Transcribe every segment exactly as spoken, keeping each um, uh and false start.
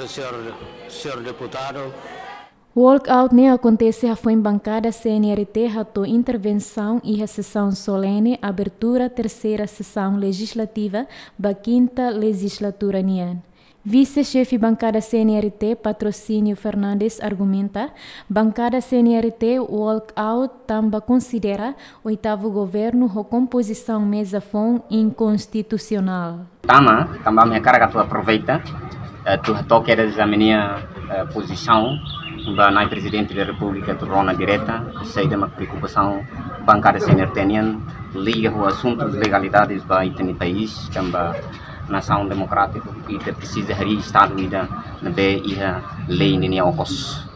Senhor, senhor deputado. Walkout ne'e akontese hafoin bankada C N R T hato'o intervensaun iha sesaun solene abertura terseira sesaun lejizlativa ba kinta lejizlatura nian. Vise-xefe bankada C N R T, Patrocínio Fernandes, argumenta, bankada C N R T walkout tanba konsidera oitavu governu ho kompozisaun meza foun inkonstitusionál. Tama, tanba ami hakarak atu aproveita, eh, atu hato'o kedas ami-nia, eh, pozisaun ba Nai Prezidente da Repúblika atu rona direta, saida mak preokupasaun bankada C N R T nian liga ho asuntus legalidades ba ita-nia país, tanba nasaun demokrátiku, ita presiza harii estadu ida ne'ebé iha lei ninia okos.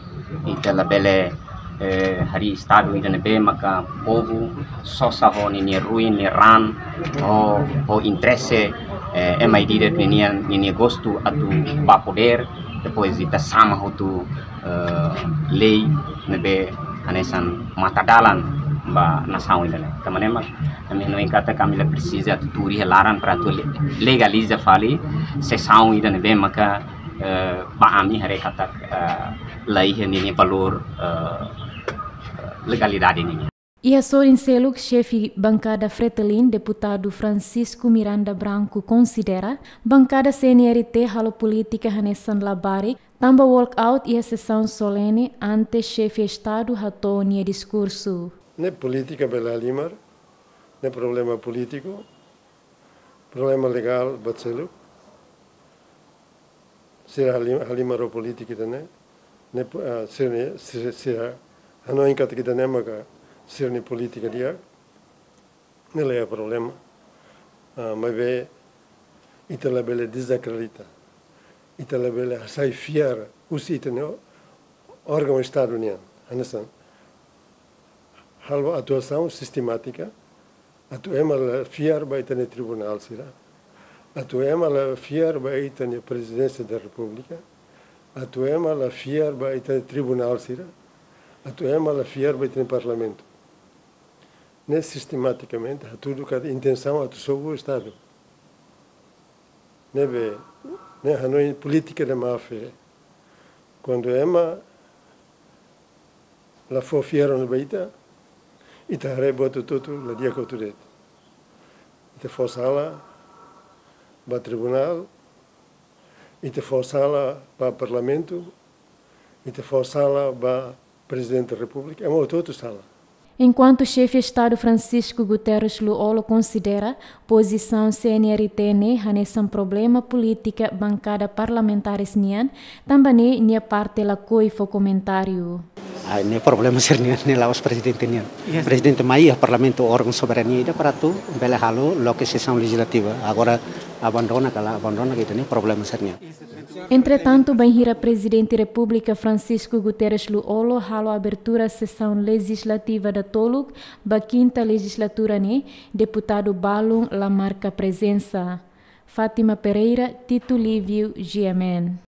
Ita labele, eh, harii estadu ida ne'ebé maka povu sosa ho ninia ruin, nia raan, ho, ho interese, eh, ema ida-idak ninia, ninia gostu atu ba podér, depois ita sama hotu, eh, lei ne'ebé hanesan matadalan ba nasaun ida-ne'e. Tanba ne'e mak ami hanoin katak ami la presiza atu tuur iha laran para atu le-, legaliza fali sesaun ida ne'ebé maka, eh, ba ami haree katak, eh, la iha ninia valór, eh, legalidade ninia. Iha sorin seluk, xefe bankada Fretilin, deputadu Francisco Miranda Branco, konsidera bankada C N R T halo polítika hanesan labarik, tanba walkout iha sesaun solene antes xefe estadu hato'o nia diskursu. Ne'e polítika bele halimar, ne'e problema polítiku, problema legál buat seluk. Sira halim-, halimar ho polítika ida-ne'e, ne'e po-, ah, sira-ne'e, sira, sira hanoin katak ida-ne'e maka sira-nia polítika di'ak, ne'e la iha problema. Ah, maibé ita labele dezakredita, ita labele hasai fiar husi ita-nia órgaun estadu nian. Hanesan halo atuasaun sistemátika, atu ema la fiar ba ita-nia tribunál sira, atu ema la fiar ba ita-nia Prezidénsia da Repúblika, atu ema la fiar ba ita-nia tribunál sira, atu ema la fiar ba ita-nia Parlamentu. Ne'e sistematikamente hatudu katak intensaun atu sobu estadu. Ne'ebé, ne'e hanoin polítika de má fé. Kuandu ema la fó fiar ona ba ita, ita haree buat hotu-hotu la di'ak hotu de'it. Ita fó sala ba tribunál, ita fó sala ba Parlamentu, ita fó sala ba Prezidente da Repúblika, ema hotu-hotu sala. Enkuantu xefe estadu Francisco Guterres Lú-Olo konsidera pozisaun C N R T ne'e hanesan problema polítika bankada parlamentares nian, tanba ne'e nia parte lakohi fó komentáriu. Ah, ne'e problema sira-nian, ne'e la'ós prezidente nian. Yes. Prezidente mai iha Parlamentu órgaun soberania ida para atu bele halo loke sesaun lejizlativa. Agora abandona ka la abandona, ida-ne'e problema sira-nian. Entretantu, bainhira Prezidente Repúblika Francisco Guterres Lú-Olo halo abertura sesaun lejizlativa datoluk ba kinta lejizlatura ne'e, deputadu balun la marka prezensa. Fátima Pereira, Tito Lívio, G M N.